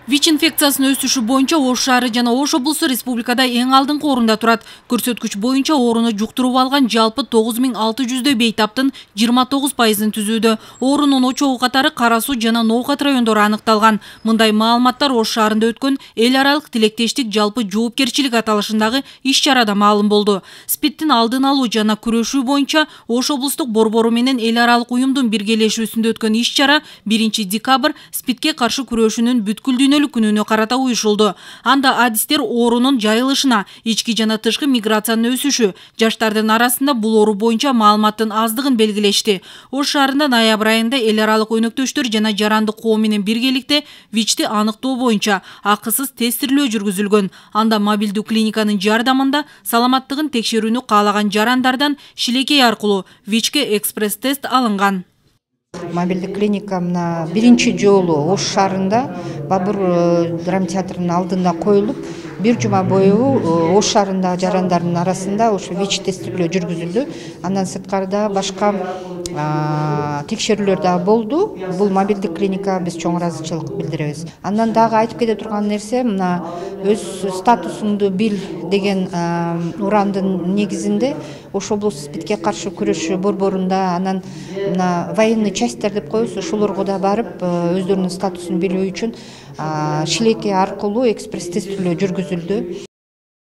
ВИЧ инфекциясынын өсүшү боюнча Ош шаары жана Ош облусу республикада эң алдыңкы орунда турат. Көрсөткүч боюнча ооруну жуктуруп алган жалпы 9600 бейтаптын 29%-ын түзүүдө. Оорунун очогу катары Кара Суу жана Ноокат райондору аныкталган. Мындай маалыматтар Ош шаарында өткөн эл аралык тилектештик жалпы жоопкерчилик аталышындагы иш-чарада маалым болду. СПИДтин алдын алуу жана күрөшүү боюнча Ош облустук борбору менен эл аралык уюмдун биргелешүүсүндө өткөн иш-чара 1 декабрь СПИДке каршы күрөшүүнүн бүткүлдүү күнүнө карата уюшулду. Анда адистер оорунун жайылышына, ички жана тышкы миграциянын өсүшү, жаштардын арасында бул оору боюнча маалыматтын аздыгын белгилешти. Ош шаарында ноябрь айында эл аралык өнөктөштөр жана жарандык коом менен биргеликте ВИЧти аныктоо боюнча акысыз тестирлөө жүргүзүлгөн. Анда мобилдүү клиниканын жардамында саламаттыгын текшерүүнү каалаган жарандардан шилекей аркылуу ВИЧке экспресс-тест алынган. Мобилдик клиника мына биринчи жолу Ош шаарында Бабур драмтеатрынын алдында коюлуп, бир жума бою Ош шаарындагы жарандардын арасында ошо ВИЧ тестирлөө жүргүзүлдү. Андан сырткары башка текшерүүлөр дагы болду. Бул мобилдик клиника биз чоң ыраазычылык билдиребиз. Андан дагы айтып кете турган нерсе, мына өз статусуңду бил деген урандын негизинде Ош облусту СПИДке каршы күрөшүү борборунда, анан мына военный частьтер деп коебуз, ошолорго да барып өздөрүнүн статусун билүү үчүн шилекей аркылуу экспресс тестирлөө жүргүзүлдү.